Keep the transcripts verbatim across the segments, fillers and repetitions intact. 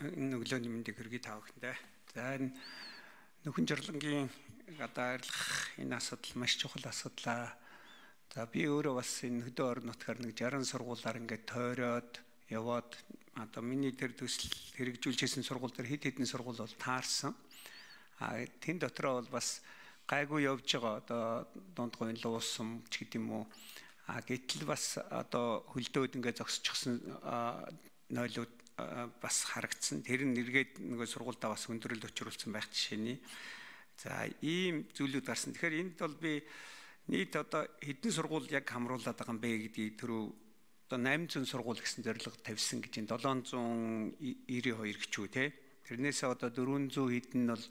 энэ өглөөний мэндийг хүргэе та бүхэндээ. За энэ нөхөн жирлэнгийн гадаа арилгах энэ асуудал маш чухал асуудал. За би өөрөө бас энэ хөдөө орон нутгаар нэг жарган сургуулаар ингээд тойроод яваад одоо миний тэр төсөл хэрэгжүүлжсэн сургууль дээр хэд хэдэн сургууль бол таарсан. А тэн дотроо бол бас гайгүй явж байгаа одоо дундгойн луусам ч гэдэм үү. А гэтэл бас одоо хөлдөөд ингээд зогсчихсан нойлууд бас харагдсан. Тэр нь эргээд нөгөө сургуульдаа бас өндөрлөлт учруулсан байх жишээний. За ийм зүйлүүд гарсан. Тэгэхээр энд бол би нийт одоо хэдэн сургууль яг хамруулад байгаа юм бэ гэдгийг түрүү одоо восемь зуун сургууль гэсэн зорилго тавьсан гэж энэ seven ninety-two гэж үү те. Тэрнээсээ одоо four hundred хэдэн нь бол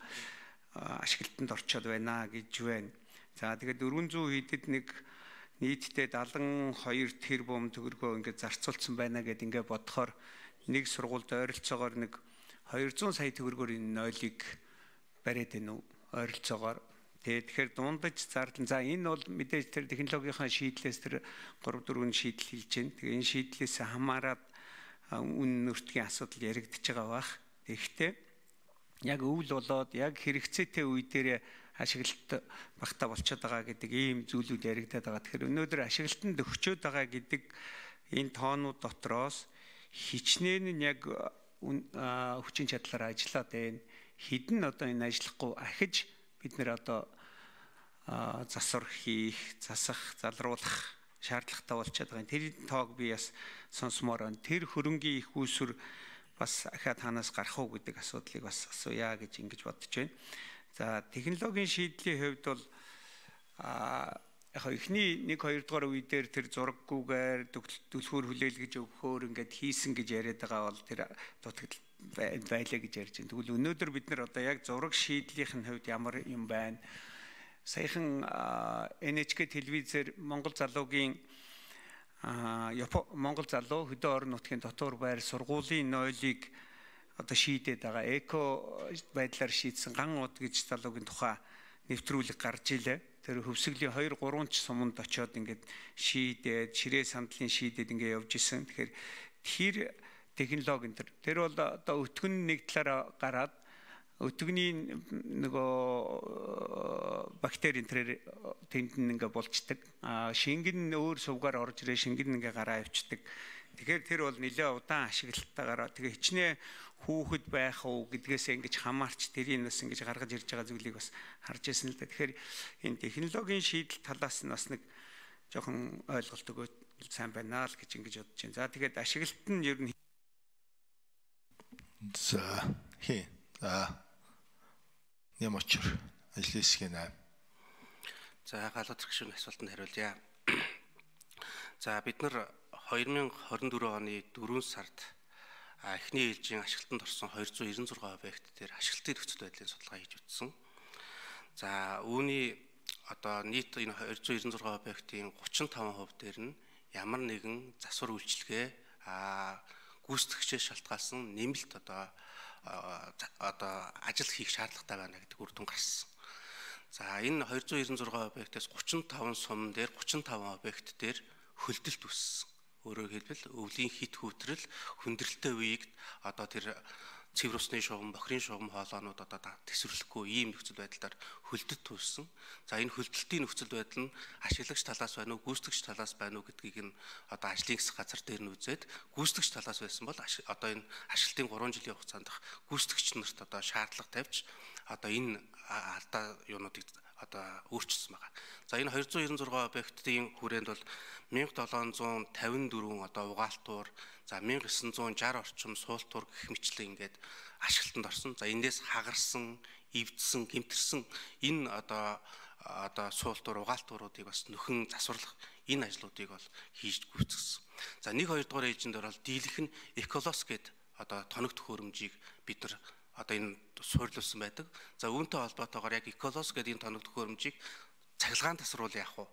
ашиглалтанд орчоод байна гэж байна. За тэгээд four hundred хэдэд нэг нийтдээ seventy-two тэрбум төгрөгөө ингээд зарцуулсан байна гэд ингээд бодохоор нэг сургуульд ойролцоогоор нэг two hundred сая төгрөгөөр энэ нойлыг бариад байна уу ойролцоогоор. Тэгэхээр дундаж зардал. За энэ бол мэдээж тэр технологийн шийдлээс тэр three four шийдэл хийж байна. Тэгээ энэ шийдлээс хамаарат үн нөртгийн асуудал яригдчихэж байгаа бах. Тэгэхдээ яг өвөл болоод яг хэрэгцээтэй үе дээр ашиглалт багтаа болчиход байгаа гэдэг ийм зүйлүүд яригдаад байгаа. Тэгэхээр өнөөдөр ашиглалтанд өгчөөд байгаа гэдэг энэ тоонууд дотроос хичнээн нь яг хүчин чадлаар ажиллаад байна. Хідэн одоо энэ ажиллахгүй ахиж бид нэр одоо засвар хийх, засах, залруулах шаардлагатай болчиход байгаа. Тэр тоог би бас сонсомоор байна. Тэр хөрөнгийн их үүсвэр бас ахаад танаас гарах уу гэдэг асуудлыг бас асууя гэж ингэж бодож байна. За технологийн шийдлийн хувьд бол а яг эхний нэг хоёр дугаар үе дээр тэр зураггүйгээр дүлхүүр хүлээлгэж өгөхөөр ингээд хийсэн гэж яриад байгаа бол тэр дутагдал байлаа гэж ярьж байна. Тэгвэл өнөөдөр бид нар одоо яг зураг шийдлийнх нь хувьд ямар юм байна? Саяхан эн эйч кей телевизээр Монгол залуугийн Монгол залуу хөдөө орон нутгийн дотор байр сургуулийн нойлыг одоо шийдээд байгаа. Эко байдлаар шийдсэн ган уд гэж залуугийн тухай нэвтрүүлэг гарч илээ. Тэр хөвсгөлийн two three ч суманд очиод ингээд шийдээд ширээ сандлын шийдээд ингээд явж исэн. Тэгэхээр тэр технологи энэ тэр бол одоо өтгөн нэг талаараа гараад өтгөний нөгөө бактери энэ тэнд ингээ болчдаг. А шингэн өөр сувгаар орж ирээ шингэн ингээ гараа авчдаг. Тэгэхээр тэр бол нэлээ удаан ашиглалтаагаар тэгээ хичнээн хүүхэд байх уу гэдгээс ингэж хамаарч тэрийг бас ингэж гаргаж ирж байгаа зүйлийг бас харж ирсэн л да. Тэгэхээр энэ технологийн шийдэл талаас нь бас нэг жоохон ойлголт өгөөд сайн байна л гэж ингэж бодож байна. За тэгээд ашиглалт нь ер нь за хэ за нэм очор ажлын хэсгийн аа. За галууд гүшүүн асуултанд хариулъя. За бид нар twenty twenty-four оны fourth сард эхний ээлжийн ашиглалтанд орсон two hundred ninety-six объект дээр ашиглалтын нөхцөл байдлын судалгаа хийж үзсэн. За үүний одоо нийт энэ two hundred ninety-six объектын thirty-five percent дээр нь ямар нэгэн засвар үйлчилгээ а гүйцэтгэгчээс шалтгаалсан нэмэлт одоо одоо ажил хийх шаардлагатай байна гэдэг үр дүн гарсан. За энэ two hundred ninety-six объектээс thirty-five сум дээр thirty-five объект дээр хөлдөлт үүссэн. Өөрөөр хэлбэл өвлийн хит хүүтрэл хүндрэлтэй үеийг одоо тэр цэвэр усны шугам, бохирын шугам хоолоонууд одоо тэсвэрлэхгүй ийм нөхцөл байдлаар хөлдөлт үүссэн. За энэ хөлдөлтийн нөхцөл байдал нь ашиглагч талаас байна уу, гүйцэтгэгч талаас байна уу гэдгийг нь одоо ажлын хэсэг газар дээр нь үзээд гүйцэтгэгч талаас байсан бол одоо энэ ашиглалтын three жилийн хугацаанд гүйцэтгэгч нарт одоо шаардлага тавьж одоо энэ алдаа юунуудыг одоо өөрчилсөн байгаа. За энэ two hundred ninety-six объектын хүрээнд бол one thousand seven hundred fifty-four одоо угаалтуур, за one thousand nine hundred sixty орчим суултуур гэх мэтлэн ингээд ашиглалтанд орсон. За эндээс хагарсан, эвдсэн, гэмтэрсэн энэ одоо одоо суултуур, угаалтууруудыг бас нөхөн засварлах энэ ажлуудыг бол хийж гүйцэтгсэн. За нэг хоёр дугаар ээлжинд орол дийлэх нь эколос гэдэг одоо тоног төхөөрөмжийг бид нар одоо энэ суурилсан байдаг. За үүнтэй холбоотойгоор яг эколос гэдэг энэ тоног төхөөрөмжийг цахилгаан тасруул яах вэ?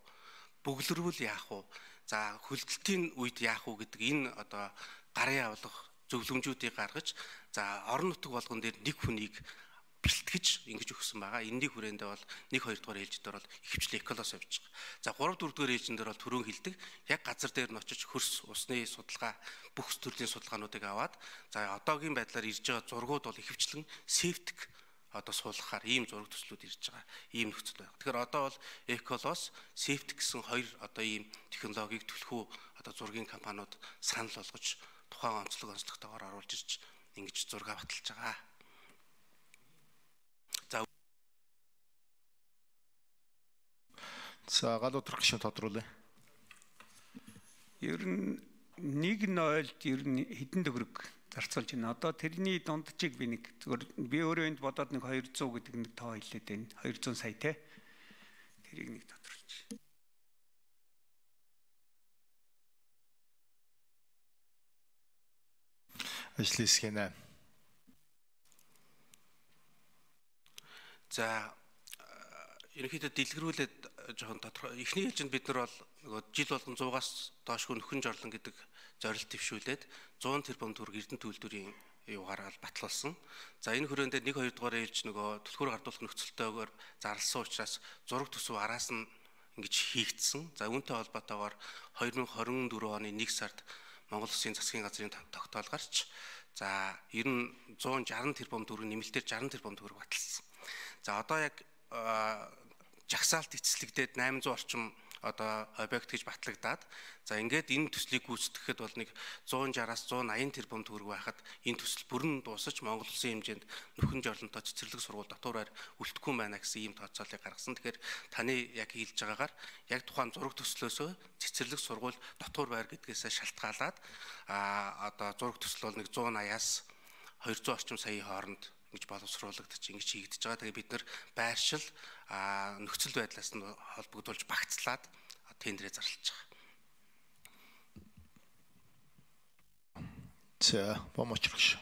Бөглөрвөл яах вэ? За хөлдөлтийн үед яах вэ гэдэг энэ одоо гарын авлах зөвлөмжүүдийг гаргаж за орон нутаг болгон дээр нэг хүнийг бэлтгэж ингэж өгсөн байгаа. Энийг хүрээндээ бол нэг хоёр дугаар ээлжид дээр бол ихэвчлэн эколос явж байгаа. За гурав дөрөв дугаар ээлжин дээр бол түрүүн хэлдэг яг газар дээр нь очиж хөрс усны судалгаа бүх төрлийн судалгаануудыг аваад за одоогийн байдлаар ирж байгаа зургууд бол ихэвчлэн септик одоо суулгахаар ийм зураг төслүүд ирж байгаа. Ийм нөхцөл байна. Тэгэхээр одоо бол эколос, септик гэсэн хоёр одоо ийм технологиг түлхүү одоо зургийн компаниуд санал болгож тухайн онцлог онцлогтойгоор оруулж ирж ингэж зураг баталж байгаа. За За гал утрах гишүүн тодруулъя. Ер нь нэг нойлд ер нь хэдэн төгрөг зарцуулж байна. Одоо тэрний дунджийг би нэг зүгээр би өөрөө энд бодоод нэг хоёр зуун гэдэг нэг тоо хэлээд байна. хоёр зуун сая те. Тэрийг нэг тодруулж. Ажлын хэсгийн аа. За ерөнхийдөө дэлгэрүүлээд жоохон тодорхой эхний ээлжинд бид нар бол нөгөө жил болгон суугаас доошгүй нөхөн жорлон гэдэг зорилт төвшүүлээд зуун тэрбум төгрөг эрдэнэ төлбөрийн юугаараа батлуулсан. За энэ хүрээндээ нэг хоёр дугаар ээлж нөгөө түлхүүр гардуулах нөхцөлтөөр зарласан учраас зураг төсөв араас нь ингэж хийгдсэн. За үүнтэй холбоотойгоор хоёр мың хорин дөрөв оны нэг сард Монгол Улсын засгийн газрын тогтоолгаарч за ер нь зуун шаран тэрбум төгрөг нэмэлтээр шаран тэрбум төгрөг баталсан. За одоо яг жагсаалт эцэслэгдээд восемь зуун орчим одоо объект гэж батлагдаад за ингээд энэ төслийг гүйцэтгэхэд бол нэг зуун шараас зуун аян тэрбум төгрөг байхад энэ төсөл бүрэн дуусаж Монгол Улсын хэмжээнд нөхөн жорлонтой цэцэрлэг сургууль дотоороор үлдэхгүй байна гэсэн ийм тооцоолыг гаргасан. Тэгэхээр таны яг хэлж байгаагаар яг тухайн зураг төслөөсөө цэцэрлэг сургууль дотор байр гэдгээс шалтгаалаад а одоо зураг төсөл бол нэг зуун аяас хоёр зуун орчим саяын хооронд гэж боловсруулагдаж ингэж хийгдэж байгаа. Тэгээ бид нэр байршил нөхцөл байдлаас нь холбогдуулж багцлаад тендерээ зарлаж байгаа. За, бомочрогш.